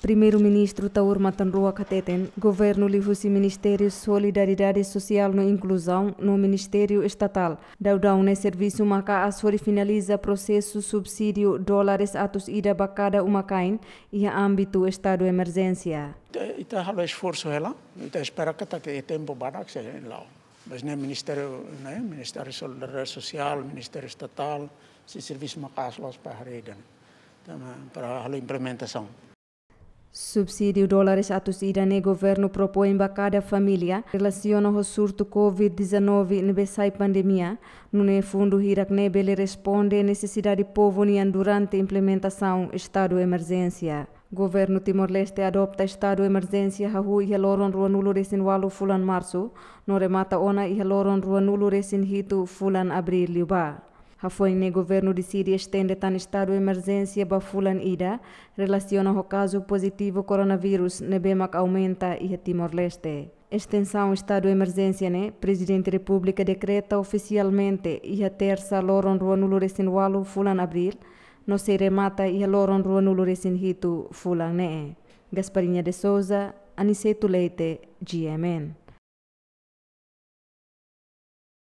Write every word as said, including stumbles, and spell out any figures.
Primeiru-Ministru Taur Matan Ruak hateten, governu liuhusi Ministériu Solidariedade Sosiál no Inkluzaun no Ministériu Estatál daudaun ne'e servisu maka'as hodi finaliza prosesu subsídiu dólares atus ida ba kada uma-kain iha ámbitu estadu emerjénsia. Ita, ita halo esforsu hela, ita espera katak iha tempu badak sei la'o. Mas ne'e Ministériu, ne'e Ministériu Solidariedade Sosiál, Ministériu Estatál sei servisu maka'as loos para haree ida-ne'e. Tanba para halo implementasaun. Subsídiu dólares atus ida ne'e governu propoin ba kada família relasiona ho surtu covid dezanove ne'ebé sai pandemia, nune'e fundu hirak ne'e bele responde nesesidade povu nian durante implementasaun estadu emerjénsia. Governu Timor-Leste adopta estadu emerjénsia hahú iha loron ruanulu-resin-ualu fulan Marsu, no remata ona iha loron ruanulu-resin-hitu fulan Abríl liubá. Hafoin ne'e governu deside estende tan estadu emerjénsia ba fulan ida, relasiona ho kazu pozitivu koronavírus ne'ebé mak aumenta iha Timor-Leste. Estensaun estadu emerjénsia ne'e, Prezidente Repúblika dekreta ofisialmente iha tersa loron ruanulu-resin-ualu fulan Abríl, no sei remata iha loron ruanulu-resin-hitu fulan ne'e. Gasparinha de Souza, Aniceto Leite, G M N.